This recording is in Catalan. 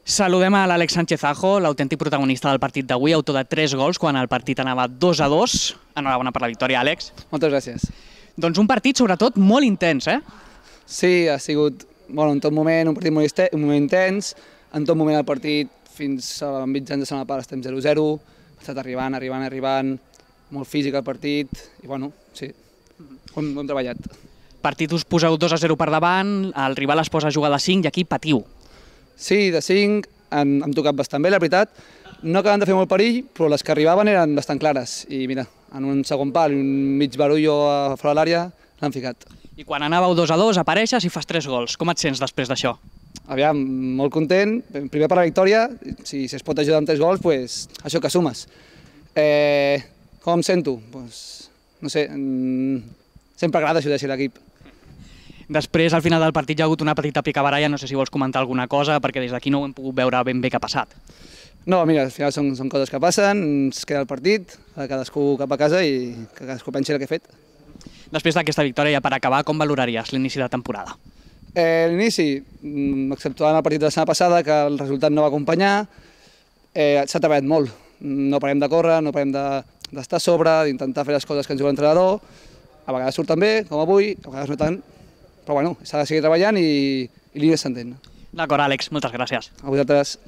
Saludem a l'Àlex Sánchez Ajo, l'autèntic protagonista del partit d'avui, autor de 3 gols quan el partit anava 2-2. Enhorabona per la victòria, Àlex. Moltes gràcies. Doncs un partit, sobretot, molt intens, eh? Sí, ha sigut en tot moment un partit molt intens. En tot moment el partit, fins a mitjans de segona part, estem 0-0. Ha estat arribant, molt físic el partit. I bueno, sí, ho hem treballat. Partit us poseu 2-0 per davant, el rival es posa a jugar de 5 i aquí patiu. Sí, de 5 hem tocat bastant bé, la veritat. No acaben de fer molt perill, però les que arribaven eren bastant clares. I mira, en un segon pal i un mig barullo a fora de l'àrea l'han ficat. I quan anàveu 2-2 apareixes i fas 3 gols. Com et sents després d'això? Aviam, molt content. Primer per la victòria, si es pot ajudar amb 3 gols, doncs això que sumes. Com em sento? No sé, sempre agrada ajudar a l'equip. Després, al final del partit, hi ha hagut una petita picabaralla, no sé si vols comentar alguna cosa, perquè des d'aquí no ho hem pogut veure ben bé què ha passat. No, mira, al final són coses que passen, ens queda el partit, cadascú cap a casa i que cadascú pensi el que ha fet. Després d'aquesta victòria, ja per acabar, com valoraries l'inici de temporada? L'inici, exceptuant el partit de la setmana passada, que el resultat no va acompanyar, s'ha treballat molt. No parem de córrer, no parem d'estar a sobre, d'intentar fer les coses que ens diu l'entrenador. A vegades surten bé, com avui, a vegades no tant, però bueno, s'ha de seguir treballant i l'Inés s'entén. D'acord, Àlex, moltes gràcies. A vosaltres.